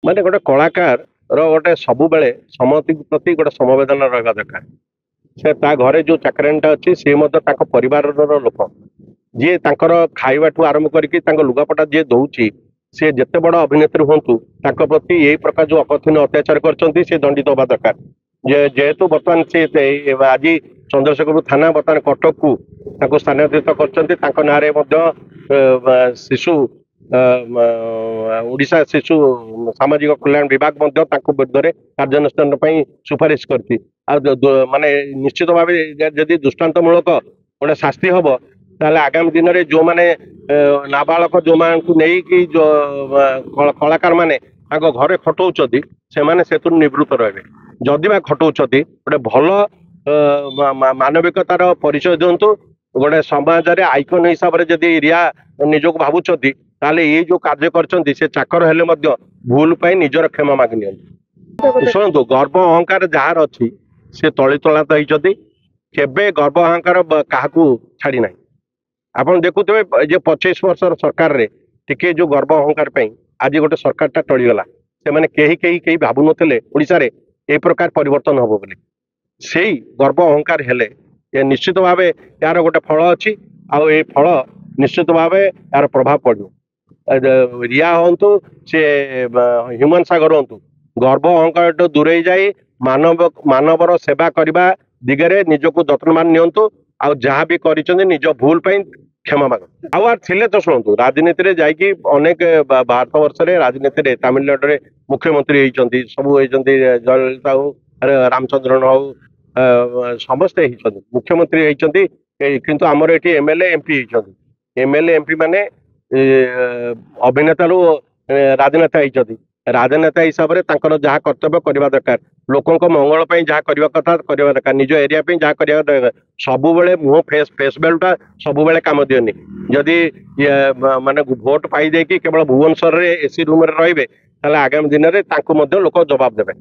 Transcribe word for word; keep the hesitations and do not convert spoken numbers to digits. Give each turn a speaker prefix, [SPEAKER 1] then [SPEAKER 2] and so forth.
[SPEAKER 1] ମାନେ ଗୋଟେ କଳାକାରର ଗୋଟେ ସବୁବେଳେ ସମସ୍ତଙ୍କ ପ୍ରତି ଗୋଟେ ସମବେଦନା ରହିବା ଦରକାର। ସେ ତା ଘରେ ଯୋଉ ଚାକରାଣୀଟା ଅଛି, ସିଏ ମଧ୍ୟ ତାଙ୍କ ପରିବାରର ଲୋକ। ଯିଏ ତାଙ୍କର ଖାଇବାଠୁ ଆରମ୍ଭ କରିକି ତାଙ୍କ ଲୁଗାପଟା ଯିଏ ଦଉଛି, ସିଏ ଯେତେ ବଡ ଅଭିନେତ୍ରୀ ହୁଅନ୍ତୁ, ତାଙ୍କ ପ୍ରତି ଏଇ ପ୍ରକାର ଯୋଉ ଅକଥନୀୟ ଅତ୍ୟାଚାର କରିଛନ୍ତି, ସେ ଦଣ୍ଡିତ ହବା ଦରକାର। ଯେ ଯେହେତୁ ବର୍ତ୍ତମାନ ସେ ଆଜି ଚନ୍ଦ୍ରଶେଖରପୁର ଥାନା ବର୍ତ୍ତମାନ କଟକକୁ ତାଙ୍କୁ ସ୍ଥାନାନ୍ତରିତ କରିଛନ୍ତି, ତାଙ୍କ ନାଁରେ ମଧ୍ୟ ଶିଶୁ ଓଡ଼ିଶା ଶିଶୁ ସାମାଜିକ କଲ୍ୟାଣ ବିଭାଗ ମଧ୍ୟ ତାଙ୍କ ବିରୁଦ୍ଧରେ କାର୍ଯ୍ୟାନୁଷ୍ଠାନ ପାଇଁ ସୁପାରିଶ କରିଛି। ଆଉ ମାନେ ନିଶ୍ଚିତ ଭାବେ ଯଦି ଦୃଷ୍ଟାନ୍ତମୂଳକ ଗୋଟେ ଶାସ୍ତି ହବ, ତାହେଲେ ଆଗାମୀ ଦିନରେ ଯୋଉମାନେ ନାବାଳକ ଯୋଉମାନଙ୍କୁ ନେଇକି କଳାକାର ମାନେ ତାଙ୍କ ଘରେ ଖଟଉଛନ୍ତି, ସେମାନେ ସେଥିରୁ ନିବୃତ୍ତ ରହିବେ। ଯଦି ବା ଖଟଉଛନ୍ତି, ଗୋଟେ ଭଲ ମାନବିକତାର ପରିଚୟ ଦିଅନ୍ତୁ। ଗୋଟେ ସମାଜରେ ଆଇକନ ହିସାବରେ ଯଦି ରିୟା ନିଜକୁ ଭାବୁଛନ୍ତି, ତାହେଲେ ଏଇ ଯୋଉ କାର୍ଯ୍ୟ କରିଛନ୍ତି, ସେ ଚାକର ହେଲେ ମଧ୍ୟ ଭୁଲ ପାଇଁ ନିଜର କ୍ଷମା ମାଗି ନିଅନ୍ତୁ। ଶୁଣନ୍ତୁ, ଗର୍ବ ଅହଙ୍କାର ଯାହାର ଅଛି, ସେ ତଳି ତଳାନ୍ତ ହେଇଛନ୍ତି। କେବେ ଗର୍ବ ଅହଙ୍କାର କାହାକୁ ଛାଡି ନାହିଁ। ଆପଣ ଦେଖୁଥିବେ ଯେ ପଚିଶ ବର୍ଷର ସରକାରରେ ଟିକେ ଯୋଉ ଗର୍ବ ଅହଙ୍କାର ପାଇଁ ଆଜି ଗୋଟେ ସରକାରଟା ଟଳିଗଲା। ସେମାନେ କେହି କେହି କେହି ଭାବୁନଥିଲେ ଓଡ଼ିଶାରେ ଏଇ ପ୍ରକାର ପରିବର୍ତ୍ତନ ହବ ବୋଲି। ସେଇ ଗର୍ବ ଅହଙ୍କାର ହେଲେ ଏ ନିଶ୍ଚିତ ଭାବେ ଏହାର ଗୋଟେ ଫଳ ଅଛି, ଆଉ ଏଇ ଫଳ ନିଶ୍ଚିତ ଭାବେ ଏହାର ପ୍ରଭାବ ପଡିବ। ରିୟା ହୁଅନ୍ତୁ, ସେ ହ୍ୟୁମାନ ସାଗର ହୁଅନ୍ତୁ, ଗର୍ବ ଅହଙ୍କାରଠୁ ଦୂରେଇ ଯାଇ ମାନବ ମାନବର ସେବା କରିବା ଦିଗରେ ନିଜକୁ ଯତ୍ନବାନ ନିଅନ୍ତୁ, ଆଉ ଯାହା ବି କରିଛନ୍ତି ନିଜ ଭୁଲ ପାଇଁ କ୍ଷମା ମାଗନ୍ତୁ। ଆଉ ଆଉ ଥିଲେ ତ ଶୁଣନ୍ତୁ, ରାଜନୀତିରେ ଯାଇକି ଅନେକ ଭାରତ ବର୍ଷରେ ରାଜନୀତିରେ ତାମିଲନାଡୁରେ ମୁଖ୍ୟମନ୍ତ୍ରୀ ହେଇଛନ୍ତି, ସବୁ ହେଇଛନ୍ତି। ଜୟଲଳିତା ହଉ, ରାମଚନ୍ଦ୍ରନ ହଉ, ସମସ୍ତେ ହେଇଛନ୍ତି, ମୁଖ୍ୟମନ୍ତ୍ରୀ ହେଇଛନ୍ତି। କିନ୍ତୁ ଆମର ଏଠି ଏମଏଲଏ, ଏମପି ହେଇଛନ୍ତି। ଏମଏଲଏ, ଏମପି ମାନେ ଅଭିନେତାରୁ ରାଜନେତା ହେଇଛନ୍ତି। ରାଜନେତା ହିସାବରେ ତାଙ୍କର ଯାହା କର୍ତ୍ତବ୍ୟ କରିବା ଦରକାର, ଲୋକଙ୍କ ମଙ୍ଗଳ ପାଇଁ ଯାହା କରିବା କଥା କରିବା ଦରକାର, ନିଜ ଏରିଆ ପାଇଁ ଯାହା କରିବା ଦରକାର। ସବୁବେଳେ ମୁହଁ ଫେସ୍ ଫେସ୍ ଭ୍ୟାଲୁଟା ସବୁବେଳେ କାମ ଦିଅନି। ଯଦି ମାନେ ଭୋଟ ପାଇ ଦେଇକି କେବଳ ଭୁବନେଶ୍ୱରରେ ଏସି ରୁମରେ ରହିବେ, ତାହେଲେ ଆଗାମୀ ଦିନରେ ତାଙ୍କୁ ମଧ୍ୟ ଲୋକ ଜବାବ ଦେବେ।